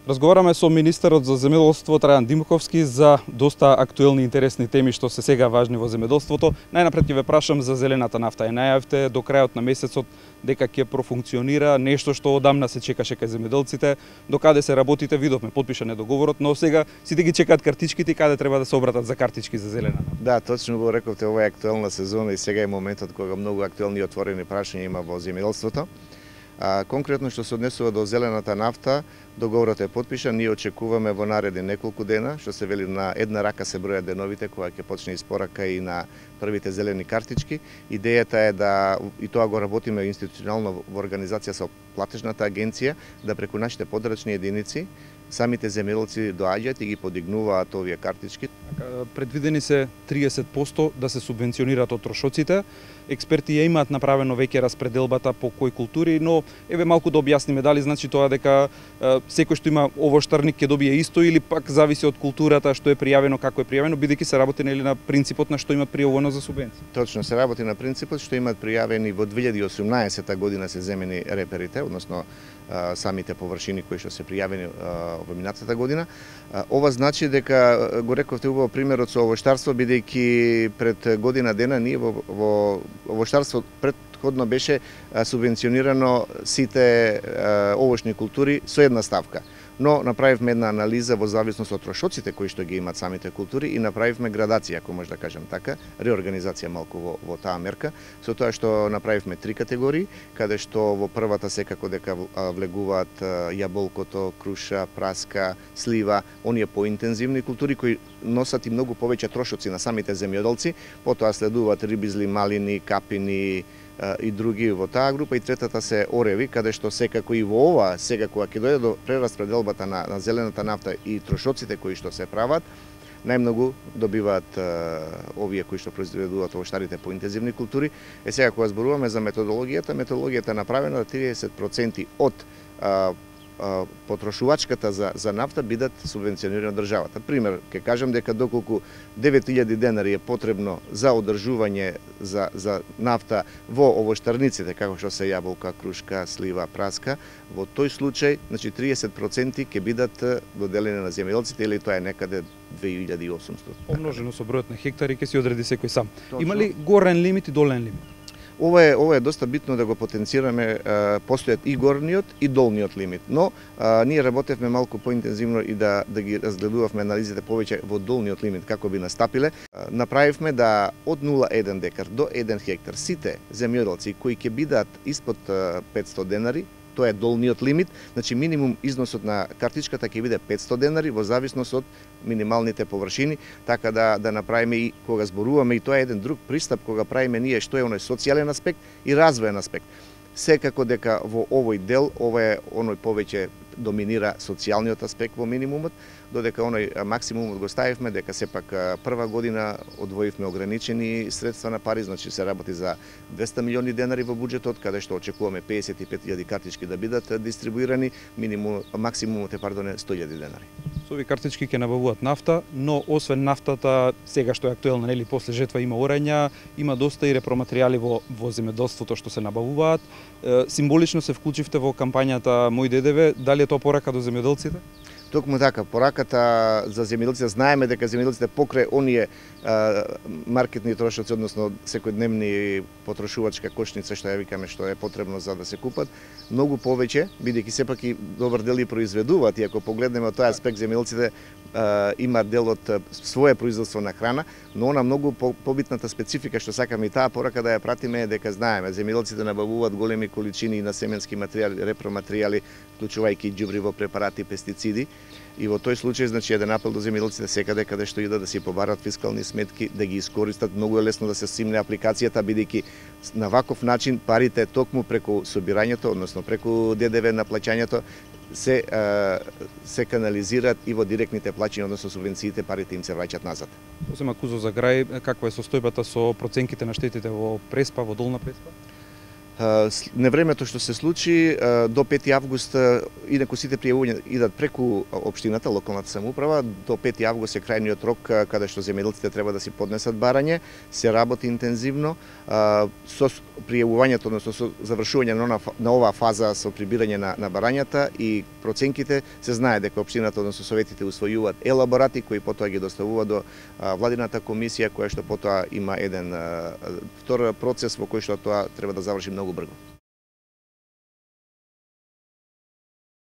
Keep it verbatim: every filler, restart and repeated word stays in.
Разговараме со министерот за земјоделство Трајан Димковски за доста актуелни и интересни теми што се сега важни во земјоделството. Најнапред ќе ве прашам за зелената нафта. Е најавте до крајот на месецот дека ќе профункционира нешто што одамна се чекаше кај земјоделците. До каде се работите, видовме, потпишан е договорот, но сега сите ги чекаат картичките и каде треба да се обратат за картички за зелена нафта. Да, точно го рековте, ова е актуелна сезона и сега е моментот кога многу актуелни и отворени прашања има во земјоделството. А, конкретно што се однесува до зелената нафта, договорот е потпишан, ние очекуваме во наредни неколку дена, што се вели на една рака се бројат деновите кога ќе почне испорака и на првите зелени картички. Идејата е да, и тоа го работиме институционално во организација со платежната агенција, да преку нашите подрачни единици самите земјоделци доаѓаат и ги подигнуваат овие картички. Предвидени се триесет проценти да се субвенционираат од трошоците. Експерти ја имаат направено веќе распределбата по кои култури, но еве малку да објасниме дали значи тоа дека е, секој што има овоштарник ќе добие исто или пак зависи од културата што е пријавено, како е пријавено, бидејќи се работи нели на принципот на што имат пријавено за субвенција. Точно, се работи на принципот што имаат пријавени во две илјади и осумнаесета година се земени реперите, односно самите површини кои што се пријавени во минатата година. Ова значи дека го рековте убаво примерот со овоштарство, бидејќи пред година дена ние во, во овоштарство предходно беше субвенционирано сите овошни култури со една ставка. Но направивме една анализа во зависност од трошоците кои што ги имаат самите култури и направивме градација, ако може да кажем така, реорганизација малку во, во таа мерка, со тоа што направивме три категории, каде што во првата секако дека влегуваат јаболкото, круша, праска, слива, оние поинтензивни култури кои носат и многу повеќе трошоци на самите земјоделци, потоа следуваат рибизли, малини, капини, и други во таа група, и третата се ореви, каде што секако и во ова, сега кога ќе дојде до прераспределбата на, на зелената нафта и трошоците кои што се прават, најмногу добиваат е, овие кои што произведуваат овоштарите по интензивни култури. Е сега кога зборуваме за методологијата, методологијата е направена да триесет проценти од е, потрошувачката за, за нафта бидат субвенционирани од државата. Пример, ќе кажам дека доколку девет илјади денари е потребно за одржување за, за нафта во овоштарниците, како што се јаболка, крушка, слива, праска, во тој случај, значи триесет проценти ќе бидат доделени на земјоделците, или тоа е некаде две илјади и осумстотини. Помножено со бројот на хектари ќе си одреди секој сам. Точно. Има ли горен лимит и долен лимит? Ова е, ова е доста битно да го потенцираме, постојат и горниот и долниот лимит, но а, ние работевме малку поинтензивно и да, да ги разгледувавме анализите повеќе во долниот лимит, како би настапиле. А, направивме да од нула целу еден декар до еден хектар сите земјоделци кои ќе бидат испод петсто денари, тоа е долниот лимит, значи минимум износот на картичката ќе биде петсто денари во зависност од минималните површини, така да да направиме и кога зборуваме, и тоа е еден друг пристап кога правиме ние, што е оној социјален аспект и развоен аспект. Секако дека во овој дел, ова е оној повеќе доминира социјалниот аспект во минимумот, додека оној максимумот го ставивме, дека сепак прва година одвоивме ограничени средства на пари, значи се работи за двесте милиони денари во буџетот, каде што очекуваме педесет и пет илјади картички да бидат дистрибуирани, минимум, максимумот е пардоне сто илјади денари. Со овие картички ќе набавуваат нафта, но освен нафтата, сега што е актуелна, нели, после жетва има орења, има доста и репроматеријали во, во земјоделството што се набавуваат. Е, символично се вклучивте во кампањата Мој ДДВ, дали е тоа порака до земјоделците? Токму така, пораката за земјоделците, знаеме дека земјоделците покрај оние а, маркетни трошоци, односно секојдневни потрошувачка кошница што ја викаме што е потребно за да се купат, многу повеќе, бидејќи сепак и добар дел и произведуваат, и ако погледнеме од тој аспект земјоделците имаат дел од свое производство на храна, но она многу побитната специфика што сакаме и таа порака да ја пратиме е дека знаеме земјоделците набавуваат големи количини на семенски материјали, репроматеријали, вклучувајќи ѓубриво, препарати, пестициди. И во тој случај, значи, еден апел до земјоделците секаде каде што идат да си побарат фискални сметки, да ги искористат, многу е лесно да се симне апликацијата, бидејќи на ваков начин парите токму преку собирањето, односно преку ДДВ на плаќањето, се се канализираат и во директните плаќања, односно субвенциите, парите им се враќаат назад. Осема Кузо за крај, каква е состојбата со проценките на штетите во Преспа, во Долна Преспа? Невремето што се случи до пети август, инаку сите пријавувања идат преку општината, локалната самоуправа, до пети август е крајниот рок каде што земјоделците треба да си поднесат барање, се работи интензивно со пријавувањето, односно со завршување на, на оваа фаза со прибирање на, на барањата и проценките. Се знае дека општината, односно советите усвојуваат елаборати кои потоа ги доставуваат до владината комисија, која што потоа има еден втор процес во кој што тоа треба да заврши многу брзо.